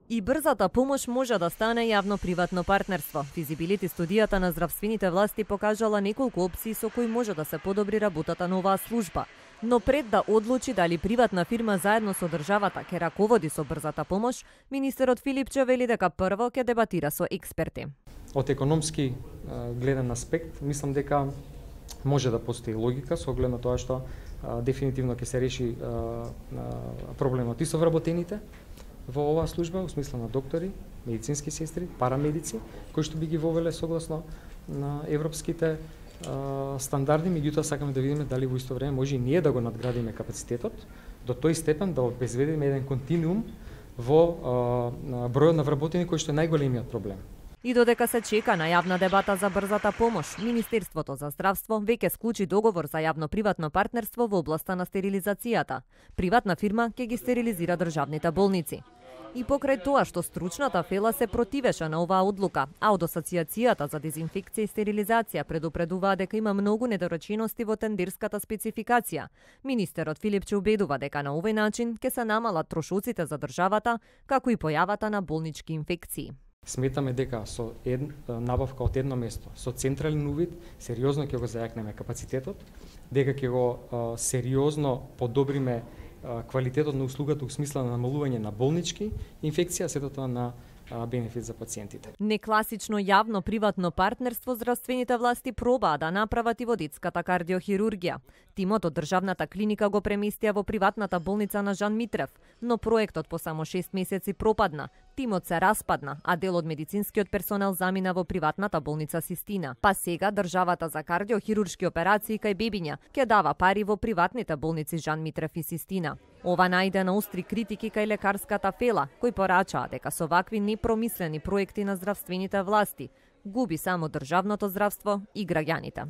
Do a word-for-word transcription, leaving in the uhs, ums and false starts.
И брзата помош може да стане јавно-приватно партнерство. Физибилити студијата на здравствените власти покажала неколку опции со кои може да се подобри работата на оваа служба. Но пред да одлучи дали приватна фирма заедно со државата ќе раководи со брзата помош, министерот Филипче вели дека прво ќе дебатира со експерти. Од економски гледен аспект, мислам дека може да постои логика со оглед на тоа што а, дефинитивно ќе се реши а, а, проблемот и со вработените во оваа служба, во смисла на доктори, медицински сестри, парамедици, кои што би ги вовеле согласно на европските а, стандарди, меѓутоа сакаме да видиме дали во исто време може и ние да го надградиме капацитетот до тој степен да обезбедиме еден континуум во а, бројот на вработени кој што е најголемиот проблем. И додека се чека на јавна дебата за брзата помош, Министерството за здравство веќе склучи договор за јавно-приватно партнерство во областа на стерилизацијата. Приватна фирма ќе ги стерилизира државните болници. И покрај тоа што стручната фела се противеше на оваа одлука, а од Асоциацијата за дезинфекција и стерилизација предупредуваа дека има многу недоречености во тендерската спецификација. Министерот Филипче убедува дека на овој начин ќе се намалат трошоците за државата, како и појавата на болнички инфекции. Сметаме дека со ед, набавка од едно место, со централен увид, сериозно ќе го зајакнеме капацитетот, дека ќе го а, сериозно подобриме а, квалитетот на услугата во смисла на намалување на болнички инфекција, сето тоа на бенефит за пациентите. Некласично јавно-приватно партнерство здравствените власти пробаа да направат и во детската кардиохирургија. Тимот од државната клиника го преместија во приватната болница на Жан Митрев, но проектот по само шест месеци пропадна. Тимот се распадна, а дел од медицинскиот персонел замина во приватната болница Систина. Па сега државата за кардиохируршки операции кај бебиња ќе дава пари во приватните болници Жан Митрев и Систина. Ова најде на остри критики кај лекарската фела, кои порачаа дека со вакви непромислени проекти на здравствените власти губи само државното здравство и граѓаните.